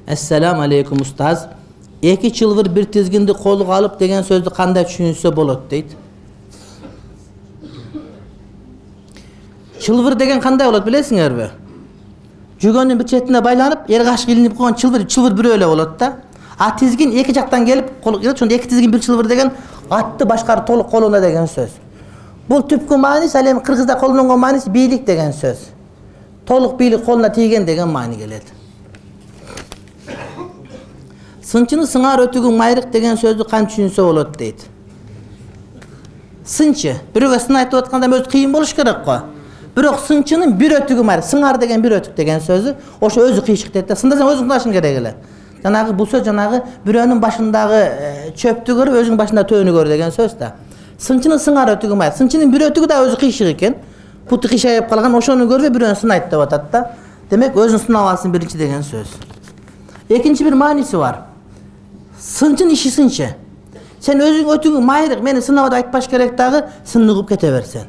Assalamu alaikum ustaz. Эки чылбыр бир тизгинди колуга алып деген сөздү кандай түшүнсө болот дейт. Чылбыр деген кандай болот билесиңерби? Жүгөнүн бир четине байланып, эргаш илинип койгон чылбыр бирөө эле болот да. А тизгин эки жактан келип кол келет, ошондо эки тизгин бир чылбыр деген атты башкарып толук колунда деген сөз. Бул түпкү мааниси ал эми кыргызда колдонгон мааниси бийлик деген сөз. Толук бийлик колуна тийген деген маани келет. Сынчыны сыңар өтүгүң майрык деген сөздү кантип түшүнсө болот дейт. Сынчы бирөөгө сын айтып атканда өзү кыйын болуш керек го. Бирок сынчынын бир өтүгү майрык, сыңар деген бир өтүк деген сөзү ошо өзү кыйшык дейт да. Сындасаң өзүң сынашың керек эле. Жанагы бул сөз жанагы бирөөнүн башындагы чөптү көрүп, өзүңүн башында төөнү көр деген сөз да. Сынчынын сыңар өтүгү майрык. Сынчынын бир өтүгү да өзү кыйшык экен. Путу кыйшайып калган, ошону көрбөй бирөөнү сынайт деп атат да. Демек өзүн сынап алсын биринчи деген сөз. Экинчи бир мааниси бар. Сынчын иши сынчы. Сен өзүң өтүгүң майрык, мени сынабад айтпаш керек дагы, сыныгып кете берсен.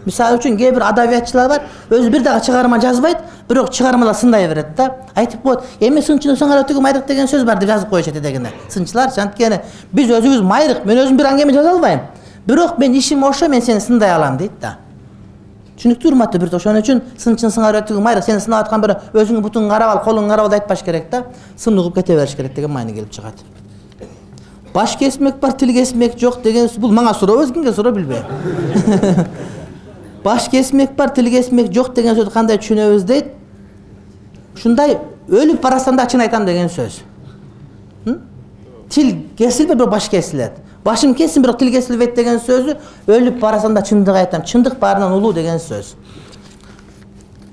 Мисалы үчүн кээ бир адабиятчылар бар, өзү бир дагы чыгарма жазбайт, бирок чыгармалар сындай берет да. Айтып коет, эми сынчынын сыңар өтүгү майрык деген сөз бар деп жазып коюшат дегенде. Сынчылар анткени биз өзүбүз майрык, мен өзүм бир аңгеме жаза албайм. Бирок мен ишим ошо, мен сени сындай алам дейт да. Түшүнүктүү урматтуу бир ошон үчүн сынчын сыңар өтүгү майрык, сени сынап аткан бирөө өзүңүн бутуңду карап ал, колуңду карап ал айтпаш керек да. Сыныгып кете бериш керек деген маани келип чыгат. Баш кесмек бар, тил кесмек жок деген бул мага суроо, өзүңгө суроо билбейм. Баш кесмек бар, тил кесмек жок деген сөздү кандай түшүнөбүз дейт. Ушундай өлүп барасам да ачык айтам деген сөз. Тил кесилбейт, бирок баш кесилет. Башым кесин, бирок тил кесилбейт деген сөзү өлүп барасам да чындык айтам. Чындык баарынан улуу деген сөз.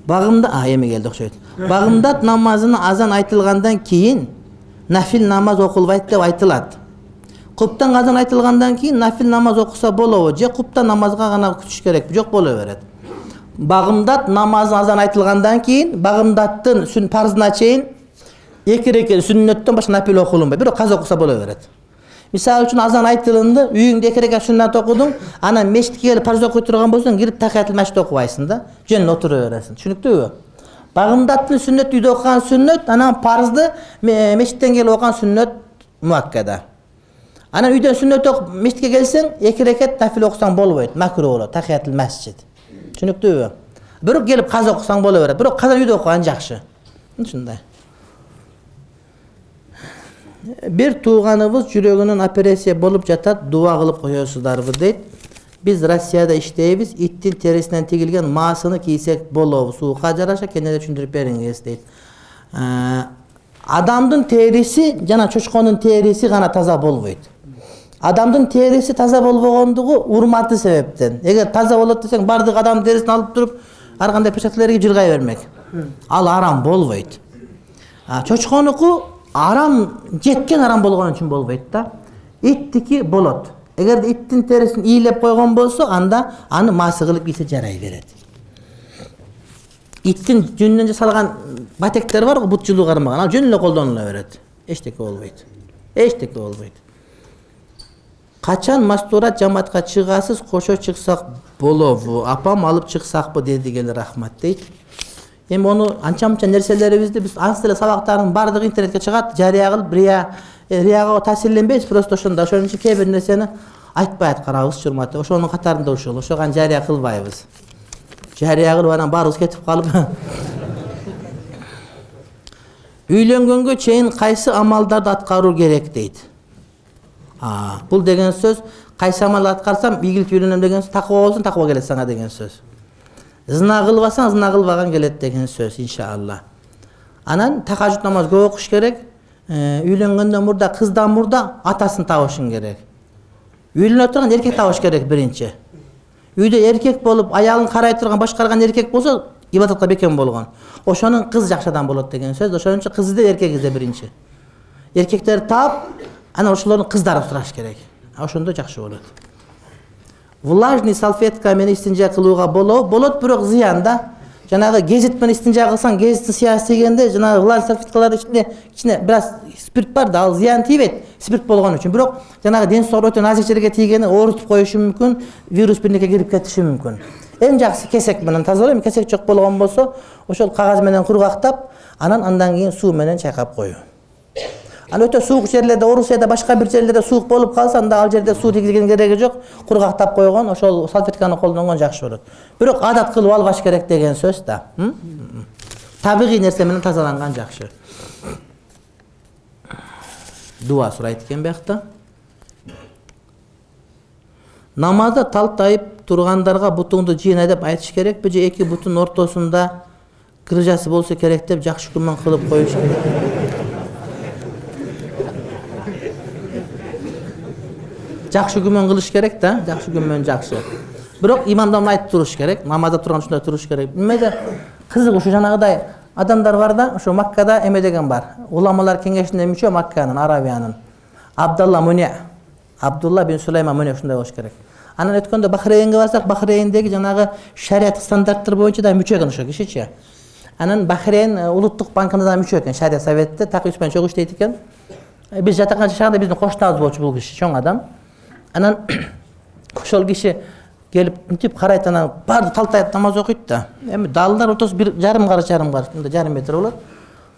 Багымда, эми келди окшойт. Багымдат намазына азан айтылгандан кийин нафил намаз окулбайт деп айтылат. Куптан азан айтылгандан кийин нафил намаз окуса болобу же куптан намазга гана күтүш керекпи? Жок, боло берет. Багымдат намазы азан айтылгандан кийин багымдаттын парзына чейин эки рекет сүннөттөн башка нафил окулунбайт. Бирок каза окуса боло берет. Мисалы үчүн азан айтылынды, үйүңдө эки рекет сүннөт окудуң, анан мешитке келип парз окуй турган болсоң, кирип тахиятул машит окубайсың да, жөн отура бересиң. Түшүнүктүүбү? Багымдаттын сүннөт үйдө окуган сүннөт, анан парзды мешиттен келип окуган сүннөт муаккада. Анан үйдөн сүннөт окуп мешитке келсең, эки рекет нафил окусаң болбойт, макруh болот, тахиятул масжид. Түшүнүктүүбү? Бирок келип каза окусаң боло берет. Бирок каза үйдө окуган жакшы. Ушундай. Бир тууганыбыз жүрөгүнүн операция болуп жатат, дуа кылып коесуздарбы дейт. Биз Россияда иштейбиз, иттин терисинен тигилген маасыны кийсек болобу? Суукка жараша кенеде түшүндүрүп бериңиз дейт. Адамдын териси жана чочконун териси гана таза болбойт. Адамдын териси таза болбогондугу урматы себептен. Эгер таза болот десең, бардык адамдын терисин алып туруп, ар кандай перчаткалерге жыргай бермек. Ал арам болбойт. Чочконуку арам, жеткен арам болгон үчүн болбойт да. Иттики болот. Эгер иттин терисин ийлеп койгон болсо, анда аны маасы кылып кийсе жарай берет. Иттин жүнүнөн жасалган батектер бар го, бут жылуу кармаган, ал жөн эле колдонула берет. Эчтеке болбойт. Эчтеке болбойт. Качан мастурат жамаатка чыгасыз, кошо чыксак болобу? Апам алып чыксакпы деди, келе рахмат дейт. Эми ону анча-мынча нерселерибизди биз аз эле сабактардын баардыгы интернетке чыгат, жарыя кылып, рияга таасирленбейбиз, просто ошондо. Ошон үчүн кээ бир нерсени айтпай аткарабыз, урматтуу. Ошонун катарында ушул. Ошого жарыя кылбайбыз. Жарыя кылып анан баарыбыз кетип калып. Үйлөнгөнгө чейин кайсы амалдарды аткаруу керек дейт. Бул деген сөз, кайсы амал аткарсам ийгилик үйлөнөм деген сөз, такыба болсоң такыба келет сага деген сөз. Зына кылбасаң зына кылбаган келет деген сөз, иншалла. Анан тахажжуд намаз көп окуш керек. Үйлөнгөндөн мурда, кыздан мурда атасын табышың керек. Үйлөнө турган эркек табыш керек биринчи. Үйдө эркек болуп, аялын карай турган, башкарган эркек болсо, ибадатка бекем болгон. Ошонун кыз жакшы адам болот деген сөз. Ошон үчүн кыз изде, эркек изде биринчи. Эркектер таап, анан ошолордун кыздары сураш керек. Ошондо жакшы болот. Влажный салфетка менен истинжа кылууга болобу? Болот, бирок зыян да. жанагы гезит менен истинжа кылсаң, гезиттин сыясы дегенде жанагы влажный салфеткалардын ичинде бир аз спирт бар да, ал зыян тийбейт спирт болгон үчүн. Бирок жанагы ден соолук өтө назик жерге тийгени оорутуп коюшу мүмкүн, вирус бирнеке кирип кетиши мүмкүн. Эң жакшысы кесек менен тазалоо. Кесек жок болгон болсо, ошол кагаз менен кургактап, андан кийин суу менен чайкап коюу. Аны өтө суук жерлерде, Орусияда башка бир жерлерде суук болуп калса, анда ал жерде суу тийгизген кереги жок, кургактап койгон, ошол салфетканы колдонгон жакшы болот. Бирок адат кылып албаш керек деген сөз да. Табигый нерсе менен тазаланган жакшы. Дуа сурайт экен биякта. Намазда талтайып тургандарга бутуңду жыйна деп айтыш керекпи же эки бутун ортосунда кыржасы болсо керек деп жакшы күмөн кылып коюш керек? Жакшы күмөн кылыш керек да, жакшы күмөн жакшы. Бирок имамдан айтып туруш керек, намазда турган ушундай туруш керек. Эмеде кызык ушу жанагыдай адамдар бар да, ошо Маккада эме деген бар. Уламалар кеңешине мүчө Макканын, Арабиянын. Абдулла бин Сулайман муне ушундай болуш керек. Анан өткөндө Бахрейнге барсак, Бахрейндеги жанагы шариат стандарттар боюнча да мүчө экен ошо кишичи. Анан Бахрейн улуттук банкына да мүчө экен, шариат советте такыр менен чогуу иштейт экен. Биз жатакан шаарда биздин коштабыз болчу бул киши, чоң адам. Анан ошол киши келип мынтип карайт, анан баарды талтайып намаз окуйт да. Эми далдар ортосу 1,5 караш, мындай жарым метр болот.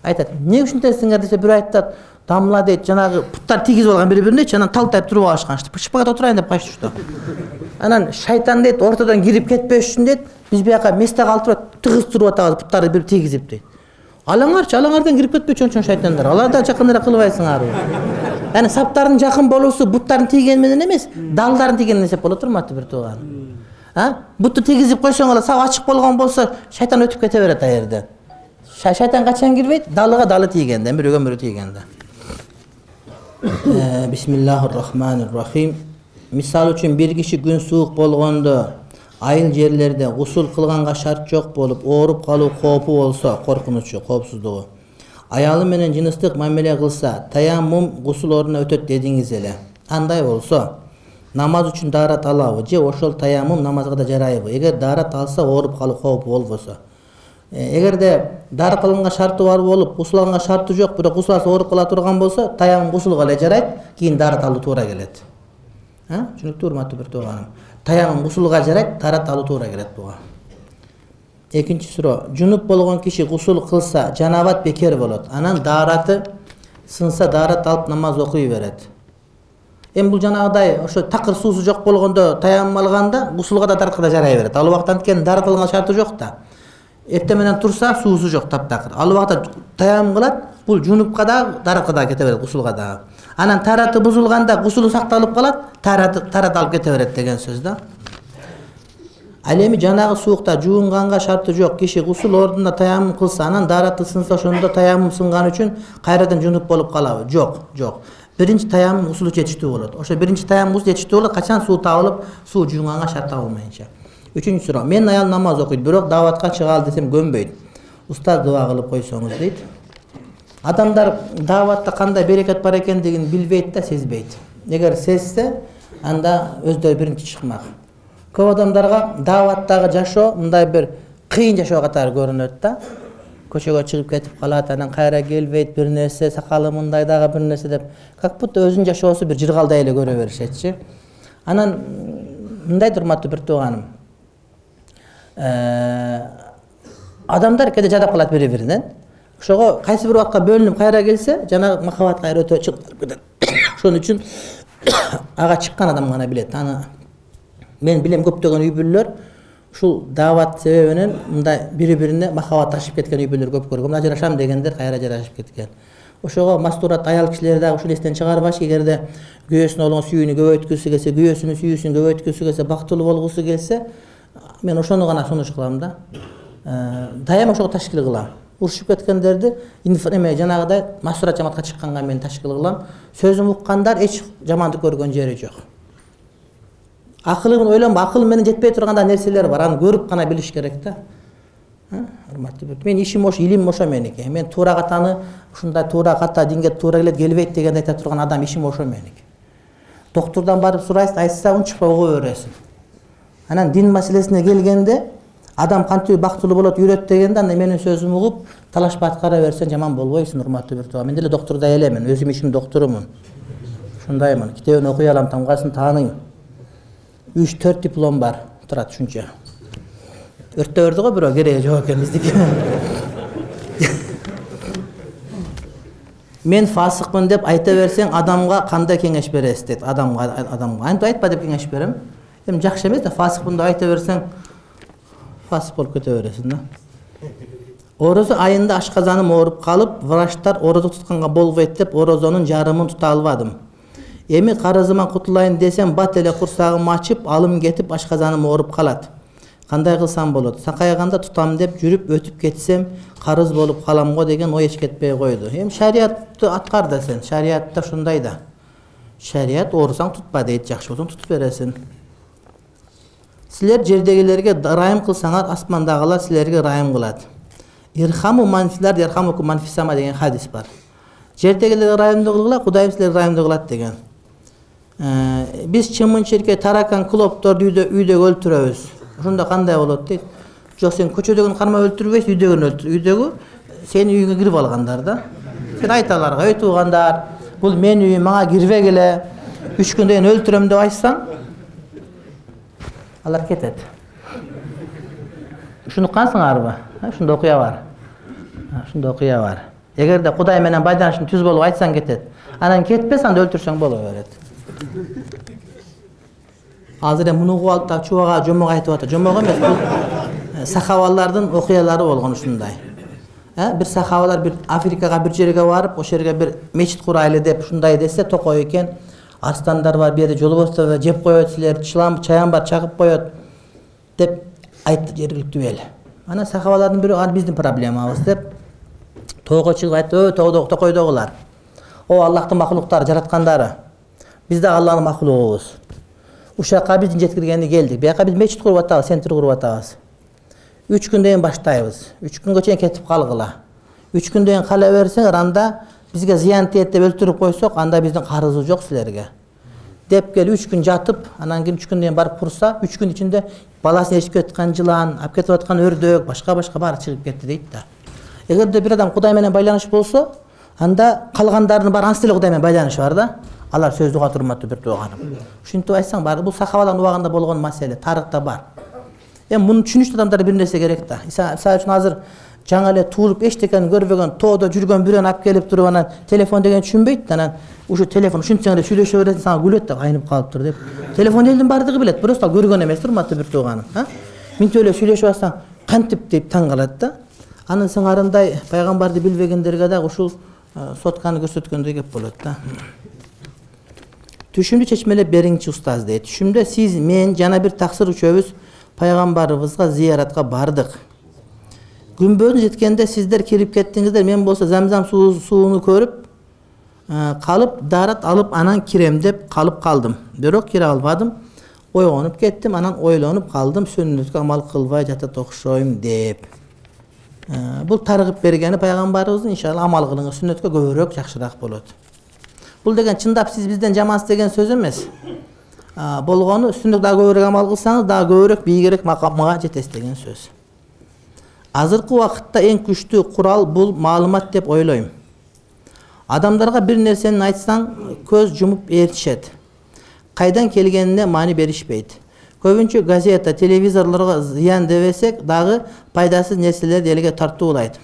Айтат, эмне ушунтесиңер десе, бирөө айтат, дамла дейт, жанагы путтар тийгизип алган бири-биринечи, анан талтайып туруп алышканчы. Шпагат отурайын деп качышту. Анан шайтан дейт, ортодон кирип кетпеш үчүн дейт, биз бияка месте калтырып тыгыз туруп атабыз, путтарды бир тийгизип дейт. Алаңардан кирип кетпечи чоң шайтандар. Алардан жакыныраак кылбайсыңарбы? Яни саптардын жакын болуусу буттардын тийгени менен эмес, далдардын тийгени эсеп болот турматты бир тууганым. Бутту тийгизип койсоң эле сап ачык болгон болсо, шайтан өтүп кете берет а жерде. Шайтан качан кирбейт? Далыга далы тийгенде, мөрөгө тийгенде. Бисмиллахир-рахманир-рахим. Мисал үчүн бир киши күн суук болгондо, айыл жерлерде гусул кылганга шарт жок болуп, ооруп калуу коопу болсо, коркунучу, коопсуздугу. Аялы менен жыныстык мамиле кылса, таяммум гусул ордуна өтөт дедиңиз эле. Андай болсо, намаз үчүн даарат алабы же ошол таяммум намазга да жарайбы? Эгер даарат алса, ооруп калуу коопу болбосо. Эгерде даарат алганга шарты бар болуп, гусул алганга шарты жок, бирок гусул алса ооруп кала турган болсо, таяммум гусулга эле жарайт, кийин даарат алуу туура келет. Түшүнүктүү урматтуу бир тууганым. Таяммум гусулга жарайт, даарат алуу туура келет буга. Экинчи суроо. Жунуп болгон киши гусул кылса, жанабат бекер болот. Анан даараты сынса, даарат алып намаз окуй берет. Эми бул жанагыдай ошо такыр суусу жок болгондо таяммум алганда гусулга да дааратка да жарай берет. Ал убакта анткени даарат алганга шарты жок да. Эртең менен турса, суусу жок таптакыр. Ал убакта таяммум кылат, бул жунупка да, дааратка да кете берет, гусулга да. Анан тараты бузулганда гусулу сакталып калат, тарат алып кете берет деген сөз да. Ал эми жанагы суукта жуунганга шарты жок, киши гусул ордуна таяммум кылса, анан даараты сынса, ошондо таяммум сынган үчүн кайрадан жунуп болуп калабы? Жок. Биринчи таяммум гусулу жетиштүү болот. Ошо биринчи таяммум гусул жетиштүү болот, качан суу табылып, суу жуунганга шарт табылмайынча. Үчүнчү суроо. Менин аялым намаз окуйт, бирок дааватка чыгаалы десем көнбөйт. Устаз дуа кылып койсоңуз дейт. Адамдар дааватта кандай берекет бар экендигин билбейт да, сезбейт. Эгер сезсе, анда өздөрү биринчи чыкмак. Көп адамдарга дааваттагы жашоо мындай бир кыйын жашоо катары көрүнөт да. Көчөгө чыгып кетип калат, анан кайра келбейт, бир нерсе, сакалы мындай дагы бир нерсе деп, как будто өзүнүн жашоосу бир жыргалдай эле көрө беришетчи. Анан мындай урматтуу бир тууганым. Адамдар кээде жадап калат бири-биринен. Ошого кайсы бир убакка бөлүнүп кайра келсе, жана махабат кайра өтө чыгып кетет. Ошон үчүн ага чыккан адам гана билет. Аны мен билем, көптөгөн үй бүлөлөр ушул даават себебинен мындай бири-бирине махабат ташып кеткен үй бүлөлөр көп көргөм. Ажырашам дегендер кайра ажырашып кеткен. Ошого мастурат аял кишилер дагы ушул эстен чыгарбаш, эгерде күйөөсүнө болгон сүйүүнү көбөйткүсү келсе, күйөөсүнүн сүйүүсүн көбөйткүсү келсе, бактылуу болгусу келсе, мен ошону гана сунуш кылам да. Дайым ошого ташкил кылам. Урушуп кеткендерди жанагыдай мастурат жамаатка чыкканга мен ташкил кылам. Сөзүм уккандар эч жамандык көргөн жери жок. Акылын ойлонбо, акыл менен жетпей турганда нерселер бар, аны көрүп гана билиш керек да. Урматтуу бир. Мен ишим ошо, илим ошо меники. Мен туура катаны ушундай туура ката динге туура келет, келбейт дегенди айта турган адам ишим ошо меники. Доктурдан барып сурайсың, айтса унчукпай угуп бересиң. Анан дин маселесине келгенде, Адам кантип бактылуу болот үйрөт дегенде анда менин сөзүмдү угуп талашпай аткара берсең жаман болбойсуң, урматтуу бир тууга. Мен деле доктурдай элемин, өзүм ишим доктурумун. Ушундаймын. Китебин окуй алам, тамгасын тааныйм. 3-4 диплом бар. Турат ушунча. Өрттөбөрдү го бирөө кереги жок экен биздики. Мен фасыкмын деп айта берсең, адамга кандай кеңеш бересиз дейт. Адамга антип айтпа деп кеңеш берем. Эми жакшы эмес да фасыкмын деп айта берсең, фасык болуп кете бересиң да. Орозо айында ашказаным ооруп калып, врачтар орозо тутканга болбойт деп орозонун жарымын тута албадым. Эми карызыман кутулайын десем, бат эле курсагым ачып, алым кетип ашказаным ооруп калат. Кандай кылсам болот? Сакайганда тутам деп жүрүп өтүп кетсем, карыз болуп калам го деген ой эч кетпей койду. Эми шариятты аткар да сен. Шариятта ушундай да. Шарият оорусаң тутпа дейт, жакшы болсоң тутуп бересиң. Силер жердегилерге райым кылсаңар, асмандагылар силерге райым кылат. Ирхаму манфилар ярхамукум манфисама деген хадис бар. Жердегилерге райымдуу кылгыла, Кудайым силерге райымдуу кылат деген. Биз чымын-чиркей, таракан, клопторду үйдөгү өлтүрөбүз. Ошондо кандай болот дейт? Жок, сен көчөдөгүн кармап өлтүрбөйсүң, үйдөгүн өлтүр. Үйдөгү сенин үйүңө кирип алгандар да. Сен айт аларга, ой туугандар, бул менин үйүм, мага кирбегиле. 3 күндөн кийин өлтүрөм деп айтсаң, алар кетет. Ушуну уккансыңарбы? Ушунда окуя бар. Ушунда окуя бар. Эгерде Кудай менен байланышың түз болуп айтсаң кетет. Анан кетпес, анда өлтүрсөң боло берет. Азыр муну угуп алып та чубага жомок айтып атат. Жомок эмес, бул сахабалардын окуялары болгон ушундай. Бир сахабалар бир Африкага бир жерге барып, ошол жерге бир мечит курайлы деп ушундай десе, токой экен. Арстандар бар, бу жерде жолбостор жеп коет, силер чаян бар, чагып коет деп айтты жергиликтүү эл. Анан сахабалардын бири ал биздин проблемабыз деп тоого чыгып айтты, токойдогулар. О Аллахтын макулуктары, жараткандары. Биз да Аллахтын макулугубуз. Ушакка биздин жеткиргени келдик. Бияка биз мечит куруп атабыз, центр куруп атабыз. 3 күндөн кийин баштайбыз. 3 күнгө чейин кетип калгыла. 3 күндөн кийин кала берсең, анда бизге зыян тиет деп өлтүрүп койсок, анда биздин карызыбыз жок силерге. Деп келип 3 күн жатып, анан кийин 3 күндөн кийин барып курса, 3 күн ичинде баласын ээрчип кеткан жылан, алып кетип аткан өрдөк, башка баары чыгып кетти дейт да. Эгерде бир адам Кудай менен байланыш болсо, анда калгандардын баары ансы эле Кудай менен байланышы бар да. Алар сөздү угат, урматтуу бир тууганым. Ушинтип айтсаң бар, бул сахабалардын убагында болгон маселе, тарыхта бар. Эми муну түшүнүштүү адамдарга бир нерсе керек да. Мисалы үчүн азыр жаңы эле туулуп эчтекени көрбөгөн, тоодо жүргөн бирөөнү алып келип туруп анан телефон деген түшүнбөйт да, анан ушу телефон ушинтсең эле сүйлөшө бересиң, сага күлөт да, айнып калыптыр деп. Телефон элдин баардыгы билет, просто ал көргөн эмес, урматтуу бир тууганым, Минтип эле сүйлөшүп атсаң, кантип деп таң калат да. Анын сыңарындай пайгамбарды билбегендерге дагы ушул сотканы көрсөткөндөй кеп болот да. Түшүмдү чечмелеп бериңчи устаз дейт. Түшүмдө сиз, мен жана бир таксыр үчөөбүз пайгамбарыбызга зияратка бардык. Күнбөдүн жеткенде сиздер кирип кеттиңиздер, мен болсо Замзам сууну көрүп калып, дарат алып анан кирем деп калып калдым. Бирок кире албадым. Ойгонуп кеттим, анан ойлонуп калдым, сүннөткө амал кылбай жатат окшойм деп. Бул таргып бергени пайгамбарыбыздын, иншалла амал кылыңыз, сүннөткө көбүрөөк жакшыраак болот. Бул деген чындап сиз бизден жамансыз деген сөз эмес. Болгону сүннөткө дагы көбүрөөк амал кылсаңыз, дагы көбүрөөк бийигирээк макамга жетесиз деген сөз. Азыркы убакытта эң күчтүү курал бул маалымат деп ойлойм. Адамдарга бир нерсени айтсаң, көз жумуп ээрчишет. Кайдан келгенине маани беришпейт. Көбүнчө газета, телевизорлорго зыян дебесек дагы пайдасыз нерселерди элге тартуулайт.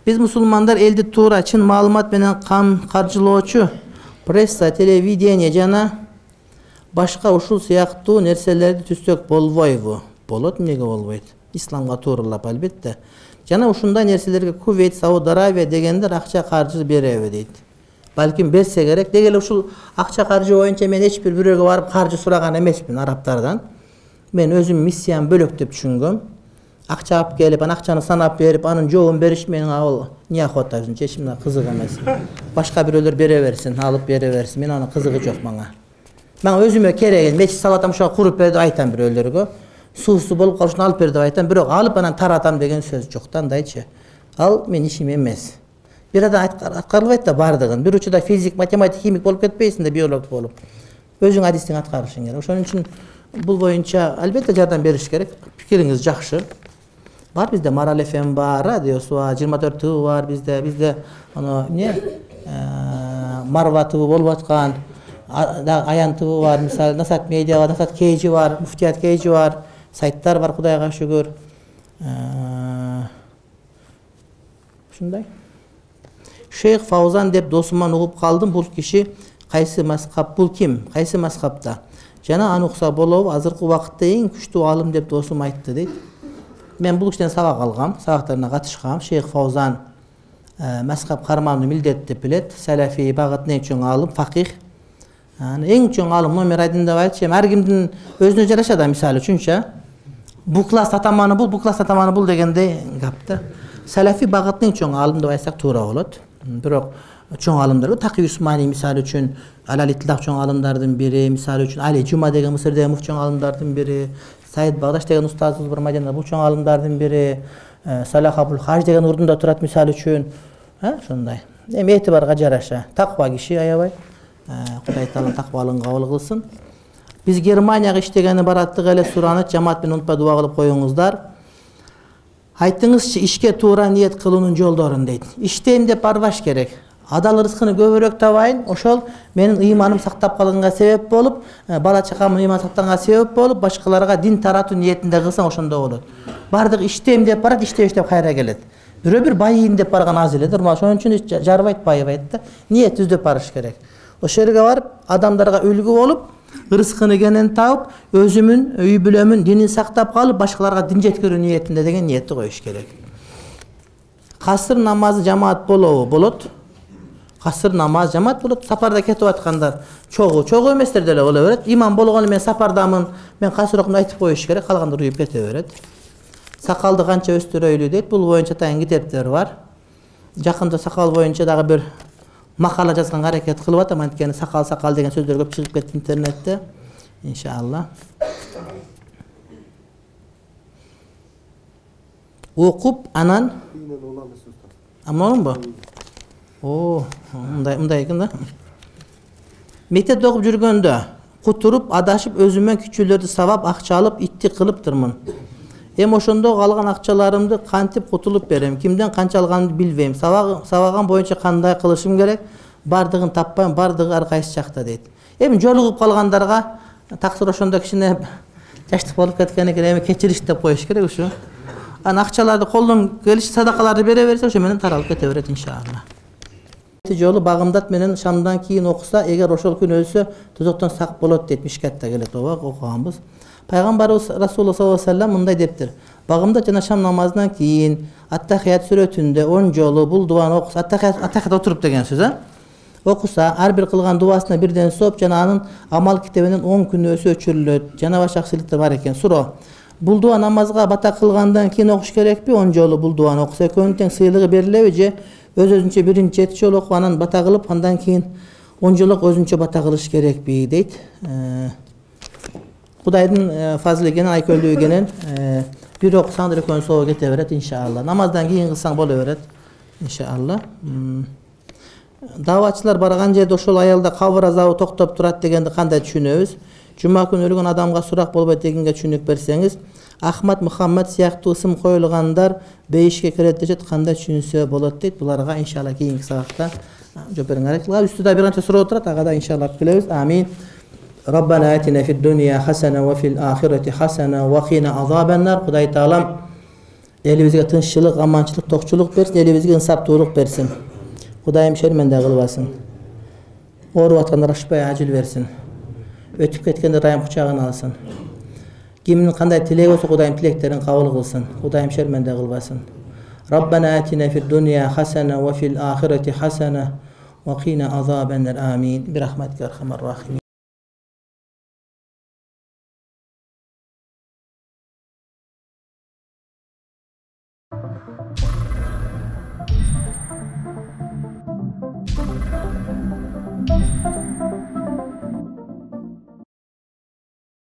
Биз мусулмандар элди туура, чын маалымат менен каржылоочу пресса, телевидение жана башка ушул сыяктуу нерселерди түзсөк болбойбу? Болот, эмнеге болбойт? Исламга тууралап албетте. Жана ушундай нерселерге Кувейт, Сауд Арабия дегендер акча каржы береби дейт. Балким берсе керек. Деги эле ушул акча каржы боюнча мен эч бир бирөөгө барып каржы сураган эмесмин арабтардан. Мен өзүм миссиям бөлөк деп түшүнгөм. Акча алып келип, анан акчаны санап берип, анын жообун бериш менин ал неохота өзүнчө эчимге кызык эмес. Башка бирөөлөр бере берсин, алып бере берсин. Мен анын кызыгы жок мага. Мага өзүмө керек, мечит салатам, ошого куруп бер деп айтам бирөөлөргө. Суусу болуп калышын алып бер деп айтам, бирок алып анан таратам деген сөз жок да, андайчы. Ал мен ишим эмес. Бир адам аткарылбайт да бардыгын. Бир учурда физик, математик, химик болуп кетпейсиң да, биолог болуп. Өзүң адистиң аткарышың керек. Ошон үчүн бул боюнча албетте жардам бериш керек. Пикириңиз жакшы. Бар бизде Марал FM бар, радиосу бар, 24 ТВ бар бизде аны Марва ТВ болуп аткан, Аян ТВ бар, мисалы Насат медиа бар, Насат KG бар, Муфтият KG бар, сайттар бар, Кудайга шүгүр. Ушундай. Шейх Фаузан деп досуман угуп калдым. Бул киши кайсы мазхаб, бул ким? Кайсы мазхабта? Жана аны укса болобу? Азыркы убакытта эң күчтүү алым деп досум айтты дейт. Мен бул кишиден сабак алгам, сабактарына катышкам. Шейх Фаузан мазхаб карманууну милдеттеп билет. Салафи багытын чоң алым, факих. Эң чоң алым номер 1 деп айтчы. Ар кимдин өзүнө жараша да, мисалы үчүнчө. Бул класс атаманы бул класс атаманы бул дегендей гапты. Салафи багытын чоң алым деп айтсак туура болот. Бирок чоң алымдар Такий Усмани мисалы үчүн Алалитлах чоң алымдардын бири, мисалы үчүн Али Жума деген Мысырдагы муфти чоң алымдардын бири, Саид Багдаш деген устазыбыз бар Мадинада, бул чоң алымдардын бири, Салах Абул Хаж деген урдунда турат мисалы үчүн. Ошондой. Эми этибарга жараша. Таква киши аябай. Кудай Таала таквалыгын кабыл кылсын. Биз Германияга иштегени бараттык эле сураны жамаат менен унутпай дуа кылып коюңуздар. Айтыңызчы, ишке туура ниет кылуунун жолдорун дейт. Иштейм деп барбаш керек. Адал рызкыны көбүрөөк табайын, ошол менин ыйманым сактап калганга себеп болуп, бала чакамдын ыйманы сактаганга себеп болуп, башкаларга дин таратуу ниетинде кылсаң ошондо болот. Бардык иштейм деп барат, иштеп кайра келет. Бирөө байыйын деп барган аз эле, ошон үчүн жарбайт, байыбайт да. Ниет түздөп барыш керек. Ошол жерге барып, адамдарга үлгү болуп, рызкыны кенен табып, өзүмүн, үй бүлөмүн динин сактап калып, башкаларга дин жеткирүү ниетинде деген ниетти коюш керек. Касыр намазы жамаат болобу? Болот. Касыр намаз жамаат болот. Сапарда кетип аткандар чогуу эместер деле боло берет. Имам болгону мен сапардамын, мен касыр окумду айтып коюш керек, калгандар уюп кете берет. Сакалды канча өстүрөйлү дейт. Бул боюнча тайын китептер бар. Жакында сакал боюнча дагы бир макала жазганга аракет кылып атам, анткени сакал деген сөздөр көп чыгып кетти интернетте. Иншалла. Окуп анан амнонбу? Мындай экен да. Мектепте окуп жүргөндө кутуруп, адашып өзүмөн күчүлөрдү сабап, акча алып, итти кылыптырмын. Эми ошондо калган акчаларымды кантип кутулуп берем? Кимден канча алганымды билбейм. Сабаган боюнча кандай кылышым керек? Бардыгын таппайм, бардыгы ар кайсы жакта дейт. Эми жолугуп калгандарга таксыр ошондо кичине жаштык болуп кеткен экен, эми кечириш деп коюш керек ушу. Аны акчаларды колдон келиши садакаларды бере берсе, ошо менен таралып кете берет иншалла. Жолу Багымдат менен шамдан кийин окуса, эгер ошол күн өлсө, тозоктон сак болот дейт. Мишкатта келет окуганбыз. Пайгамбарыбыз Расулуллах саллаллаху алейхи ва саллям мындай дептир. Багымдат жана шам намазынан кийин Ат-Тахият сүрөтүндө 10 жолу бул дуаны окуса, Ат-Тахият отуруп деген сөз, окуса, ар бир кылган дуасына бирден соп жана анын амал китебинен 10 күнөөсү өчүрүлөт. Жана башка акчылыктар бар экен. Суроо. Бул дуа намазга бата кылгандан кийин окуш керекпи? 10 жолу бул дуаны окуса, экөөнүн тең сыйлыгы берилеби же өзүнчө биринчи 7 жолу окуп анан бата кылып, андан кийин 10 жолу өзүнчө бата кылыш керекпи дейт. Кудайдын фазлы экенин, айкөлдүү экенин бир окусаңдар экөөнү соо кете берет иншалла. Намаздан кийин кылсаң боло берет иншалла. Давачылар барган жерде ошол аялда кабыр азабы токтоп турат дегенди кандай түшүнөбүз? Жума күнү өлгөн адамга сурак болбойт дегенге түшүнүк берсеңиз, Ахмад Мухаммад сыяктуу ысым коюлгандар бейишке кирет дешет, кандай түшүнсө болот дейт. Буларга иншалла кийинки сабакта жооп берүүгө аракет кылабыз. Үстүдө бир канча суроо турат, ага да иншалла күлөбүз. Амин. Rabbana atina fid dunya hasana wa fil akhirati hasana wa qina azaban nar. Кудай Таалам элибизге тынччылык, аманчылык, токчулук берсин, элибизге ынсаптуулук берсин. Кудайым шерменде кылбасын. Ооруп аткандар ашпай ажил берсин. Өтүп кеткенде Райым кучагына алсын. Кимдин кандай тилеги болсо Кудайым тилектерин кабыл кылсын. Кудайым шерменде кылбасын. Rabbana atina fid dunya hasana wa fil akhirati hasana wa qina azaban nar. Amin. Bi rahmatika arhamar rahimin.